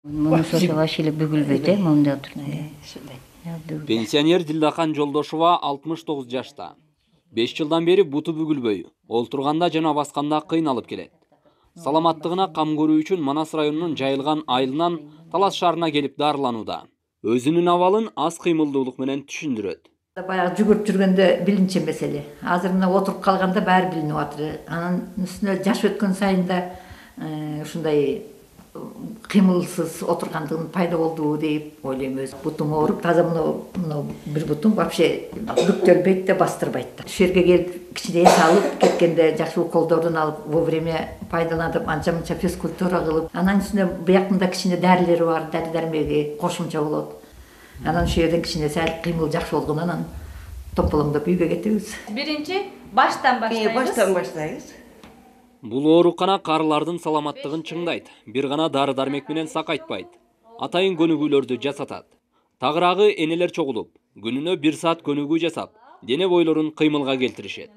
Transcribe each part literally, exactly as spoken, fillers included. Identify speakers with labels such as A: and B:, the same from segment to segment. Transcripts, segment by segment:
A: Муну сото вообще эле бүгүлбөйт, э, монда отурду.
B: Пенсионер Дилдахан Жолдошова алтымыш тогуз жашта. беш жылдан бери буту бүгүлбөй, олтурганда жана басканда кыйналып келет. Саламаттыгына кам көрүү үчүн Манас районунун Жайылган айылынан Талас шаарына келип дарыланууда. Өзүнүн абалын аз кыймылдуулук менен түшүндүрөт.
C: Баягы жүгүрүп жүргөндө билинче меселе. Азыр мына отуруп калганда баары билинип атыр. Анын үстүнө жаш өткөн сайын да ушундай кыймылсыз отургандыгым пайда болду деп ойлойм өзүм. Бутум ооруп, таза мына бир бутум вообще бүктөлбөйт да, бастырбайт да. Ушул жерге келип кичине эс алып, кеткенде жакшы уколдордун алып, вовремя пайдаланып, анча-мынча физкультура кылып, анан үстүнө буяктында кичине дарилери бар, дары-дармеги кошумча болот. Анан ушул жерден кичине сәл кыймыл жакшы болгондон анан тополоңдоп үйгө кетебиз.
D: Биринчи баштан баштайбыз.
E: Баштан баштайбыз.
B: Бул оорукана карылардын саламаттыгын чыңдайт, бир гана дары-дармек менен сакайтпайт. Атайын көнүгүүлөрдү жасатат. Тагыраагы энелер чогулуп, күнүнө бир саат көнүгүү жасап, дене бойлорун кыймылга келтиришет.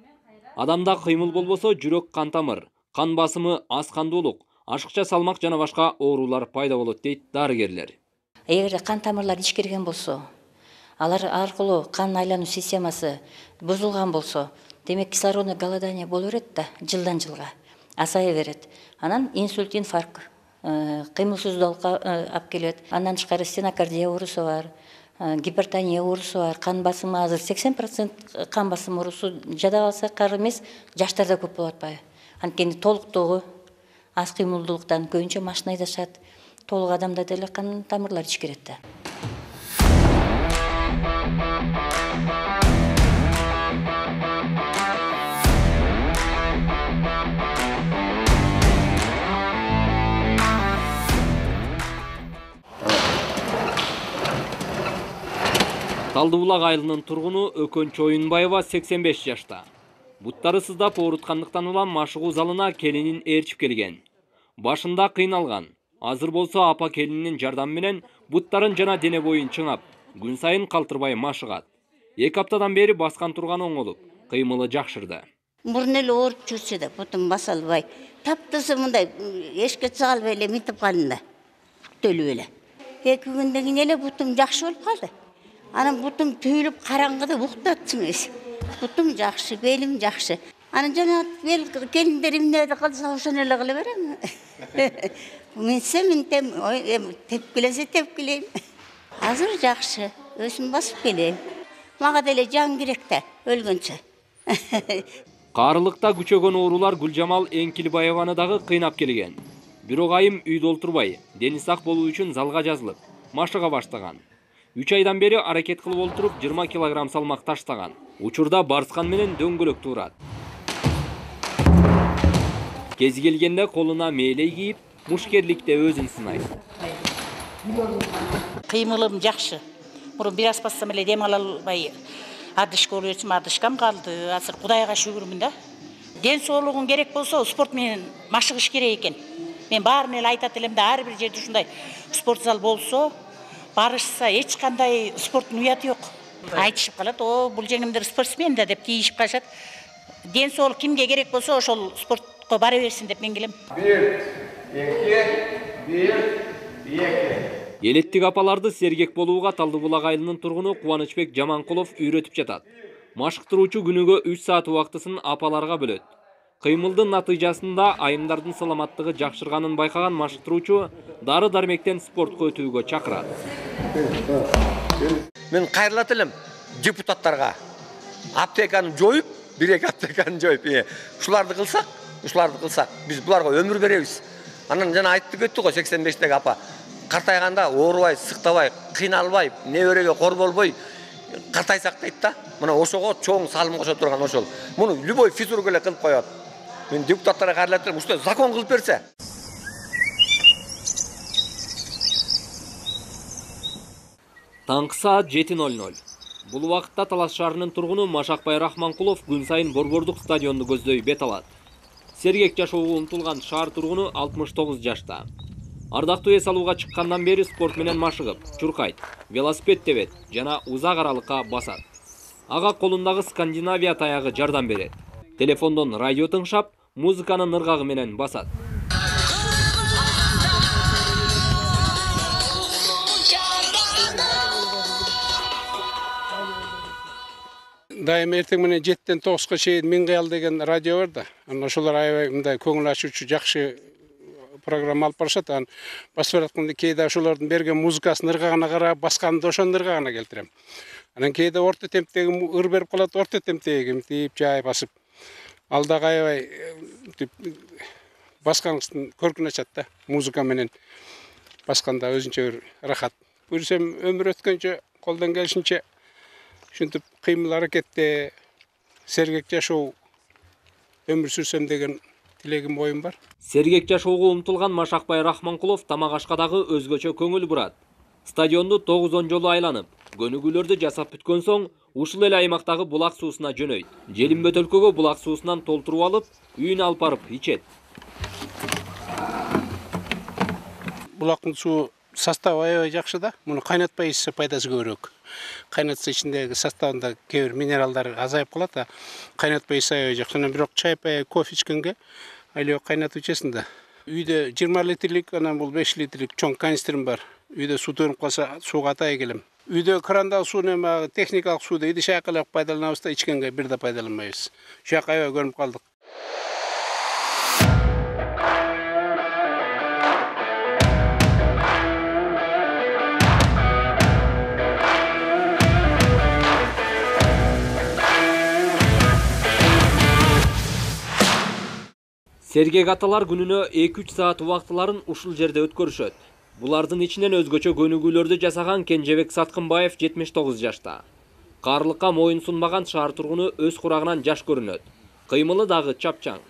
B: Адамда кыймыл болбосо жүрөк кан тамыр, кан басымы, аз кандуулук, ашыкча салмак жана башка оорулар пайда болот дейт дарыгерлер.
A: Эгерде кан тамырлар ичкирген болсо, алар аркылуу кан айлануу системасы бузулган болсо, демек кислородный голодание боло берет да, жылдан жылга асая берет. Анан инсульт, инфаркт, кыймылсыздыкка алып келет. Андан тышкары стенокардия оорусу бар, гипертония оорусу бар, кан басымы азыр сексен процент кан басым оорусу жада калсакар эмес, жаштарда көп болуп атпайбы. Анткени толуктугу, аз кыймылдуулуктан көбүнчө машина айдашат. Толук адамда деле кан тамырлар ичкирет да.
B: Талдыбулак айылынын тургуну Өкөн Чоюнбаева сексен беш жашта. Буттары сыздап ооруткандыктан улам машыгуу залына келинин ээрчип келген. Башында кыйналган. Азыр болсо апа келининин жардамы менен буттарын жана дене боюн чыңап, күн сайын калтырбай машыгат. Эки аптадан бери баскан турган оңолуп, кыймылы жакшырды.
E: Мурун эле ооруп жүрсө да бутум баса албай, таптысы мындай эшикке чыга албай эле мынтип калдым да. Бүтөлүп эле. Эки күндөн кийин эле бутум жакшы болуп калды. Анан бутум түйүлүп караңгыда уктатчу эмес. Бутум жакшы, белим жакшы. Анан жана бел келиндерим эмне кылса ошону эле кыла берем. Минсе минтем, тепкилесе тепкилейм. Азыр жакшы, өзүм басып келем. Мага деле жан керек да, өлгөнчө.
B: Каарылыкта күчөгөн оорулар Гүлжамал Эңкилбаеваны дагы кыйнап келген. Бирок айым үйдө олтурбай, дени сак болуу үчүн залга жазылып, машыга баштаган. үч айдан бери аракет кылып олтуруп жыйырма килограмм салмак таштаган. Учурда барскан менен дөңгөлөк туурат. Кези келгенде колуна мээлей кийип, мушкерликте өзүн сынайт.
F: Кыймылым жакшы. Мурун бир аз бассам эле дем ала албай адышка болуп жүрсүм, адышкам калды. Азыр Кудайга шүгүрмүн да. Ден соолугуң керек болсо, спорт менен машыгыш керек экен. Мен баарын эле айтат элем да, ар бир жерде ушундай спорт зал болсо, барышса эч кандай спорттун уяты жок. Айтышып калат, о, бул жеңимдер спортсмен да деп тийишип калышат. Ден соолук кимге керек болсо, ошол спортко бара берсин деп мен келем.
G: бир, эки, бир, эки.
B: Элеттик апаларды сергек болууга Талдыбулак айылынын тургуну Кубанычбек Жаманкулов үйрөтүп жатат. Машыктыруучу күнүгө үч саат убактысын апаларга бөлөт. Кыймылдын натыйжасында айымдардын саламаттыгы жакшырганын байкаган машыктыруучу дары-дармектен спортко өтүүгө чакырат.
G: Мен кайрылат элем депутаттарга. Аптеканы жоюп, бир-эки аптеканы жоюп, ушуларды кылсак, ушуларды кылсак, биз буларга өмүр беребиз. Анан жана айтып кетти го сексен бештеги апа. Картайганда оорубай, сыктабай, кыйналбай, небереге кор болбой картайсак дейт да. Мына ошого чоң салым кошо турган ошол. Муну любой физрук эле кылып коёт. Мен депутаттарга кайрылат элем, ушундай закон кылып берсе.
B: Таңкы саат жети ноль ноль. Бул убакытта Талас шаарынын тургуну Машакбай Рахманкулов күн сайын Борбордук стадионду көздөй бет алат. Сергек жашоого умтулган шаар тургуну алтымыш тогуз жашта. Ардактуу эс алууга чыккандан бери спорт менен машыгып, чуркайт, велосипед тебет жана узак аралыкка басат. Ага колундагы Скандинавия таягы жардам берет. Телефондон радио тыңшап, музыканын ыргагы менен басат.
H: Дайым эртең менен жеттен тогузга чейин Миң кыял деген радио бар да. Анан ошолор аябай мындай көңүл ачуучу жакшы программа алып барышат. Анан басып баратканда кээде ошолордун берген музыкасын ыргагына карап, басканды ошонун ыргагына келтирем. Анан кээде орто темптеги ыр берип калат, орто темптеги мынтип жай басып. Ал дагы аябай баскандын көркүн ачат да. Музыка менен басканда өзүнчө бир рахат. Көрсөм өмүр өткөнчө колдон келишинче ушинтип кыймыл аракетте сергек жашоо өмүр сүрсөм деген тилегим оюм бар.
B: Сергек жашоого умтулган Машакбай Рахманкулов тамак ашка дагы өзгөчө көңүл бурат. Стадионду тогузон жолу айланып, көнүгүүлөрдү жасап бүткөн соң ушул эле аймактагы булак суусуна жөнөйт. Желим бөтөлкөгө булак суусунан толтуруп алып, үйүнө алып барып ичет.
H: Булактын суу составы аябай жакшы да. Муну кайнатпай ичсе пайдасы көбүрөөк. Кайнатса ичиндеги составында кээ бир минералдар азайып калат, а кайнатпай ичсе аябай жакшы. Анан бирок чай пай кофе ичкенге айлап кайнатып ичесиң да. Үйдө жыйырма литрлик, анан бул беш литрлик чоң канистрим бар. Үйдө суу төнүп калса, сууга атай келем. Үйдө крандагы сууну эми техникалык сууду идиш айкалап пайдаланабыз да, ичкенге бир да пайдаланбайбыз. Ушак аябай көрүнүп калдык.
B: Сергек аталар күнүнө эки үч саат убактыларын ушул жерде өткөрүшөт. Булардын ичинен өзгөчө көнүгүүлөрдү жасаган Кенжебек Саткынбаев жетимиш тогуз жашта. Каарлыкка моюн сунбаган шаар тургуну өз курагынан жаш көрүнөт. Кыймылы дагы чапчаң.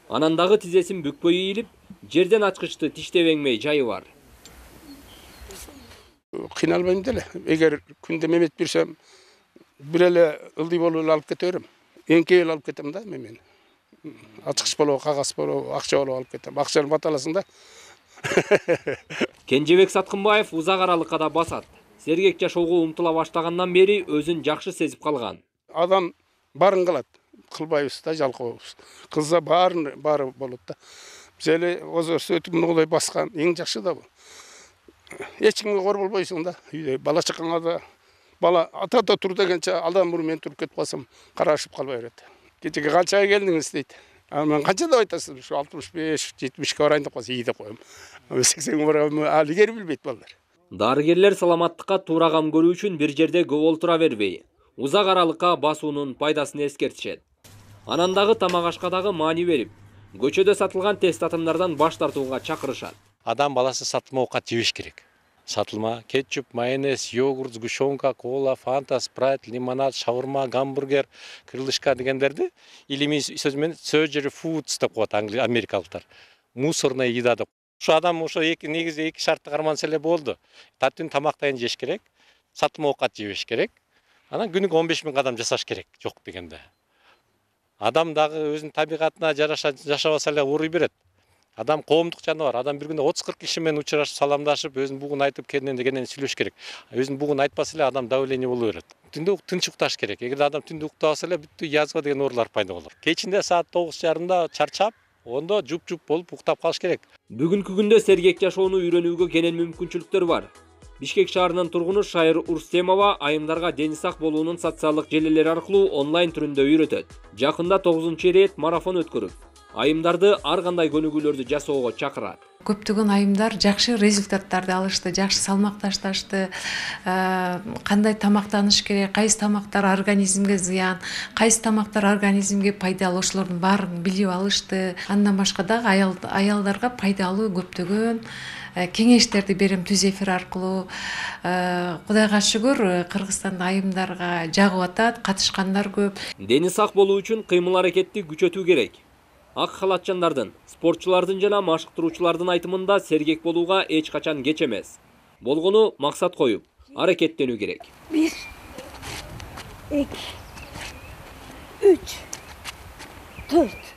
B: Анан дагы тизесин бүкпөй ийилип, жерден ачкычты тиштебеңмей жайы бар.
H: Кыйналбайм деле. Эгер күндө мемет берсем, бир эле ылдый болуп алып кете берем. Эңкейип алып кетем да мен. Ачкыч болобу, кагаз болобу, акча болобу алып кетем. Акчаны баталасың да.
B: Кенжебек Саткынбаев узак аралыкка да басат. Сергек жашоого умтула баштагандан бери өзүн жакшы сезип калган.
H: Адам барын кылат. Кылбайбыз да, жалкообуз. Кылса баарын баары болот да. Биз эле озорсу өтүп мындай баскан эң жакшы да бул. Эч кимге кор болбойсуң да. Үйдө бала чакаңа да бала ата-ата тур дегенче алдан мурун мен туруп кетип калсам карашып калбай берет. Кечеге канчага келдиңиз дейт. Мен канча деп айтасыз? Ушу алтымыш беш, жетимишке барайын деп калса, ии деп коем. сексенге барам, али кери билбейт балдар.
B: Дарыгерлер саламаттыкка туура кам көрүү үчүн бир жерде көп олтура бербей, узак аралыкка басуунун пайдасын эскертишет. Анан дагы тамак ашка дагы маани берип, көчөдө сатылган тест татымдардан баш тартууга чакырышат.
I: Адам баласы сатылма оокат жебеш керек. Сатылма, кетчуп, майонез, йогурт, сгущенка, кола, фанта, спрайт, лимонад, шаурма, гамбургер, крылышка дегендерди илимий сөз менен surgery foods деп коет америкалыктар. Мусорная еда деп. Ушу адам ошо эки негизи эки шартты карманса эле болду. Таттын тамактайын жеш керек, сатылма оокат жебеш керек. Анан күнүгө он беш миң кадам жасаш керек, жок дегенде. Адам дагы өзүнүн табигатына жараша жашабаса эле ооруй берет. Адам коомдук жаныбар. Адам бир күндө отуз кырк киши менен учурашып, саламдашып, өзүнүн бугун айтып, кенен дегенен сүйлөш керек. Өзүнүн бугун айтпаса эле адам давление боло берет. Түндө тынч укташ керек. Эгер адам түндө уктабаса эле бүттү язва деген оорулар пайда болот. Кечинде саат тогуз жарымда чарчап, ондо жуп-жуп болуп уктап калыш керек.
B: Бүгүнкү күндө сергек жашоону үйрөнүүгө кенен мүмкүнчүлүктөр бар. Бишкек шаарынын тургуну Шайыр Урстемова айымдарга дени сак болуунун социалдык желелери аркылуу онлайн түрүндө үйрөтөт. Жакында тогузунчу ирет марафон өткөрүп, айымдарды ар кандай көнүгүүлөрдү жасоого чакырат.
J: Көптөгөн айымдар жакшы результаттарды алышты, жакшы салмак ташташты, кандай тамактаныш керек, кайсы тамактар организмге зыян, кайсы тамактар организмге пайдалуу, ошолордун баарын билип алышты. Андан башка дагы аялдарга пайдалуу көптөгөн кеңештерди берем түз эфир аркылуу. Кудайга шүгүр, Кыргызстанда айымдарга жагып атат, катышкандар көп.
B: Дени сак болуу үчүн кыймыл аракетти күчөтүү керек. Ак халатчандардын, спортчулардын жана машыктыруучулардын айтымында сергек болууга эч качан кеч эмес. Болгону максат коюп, аракеттенүү керек.
K: бир, эки, үч, төрт.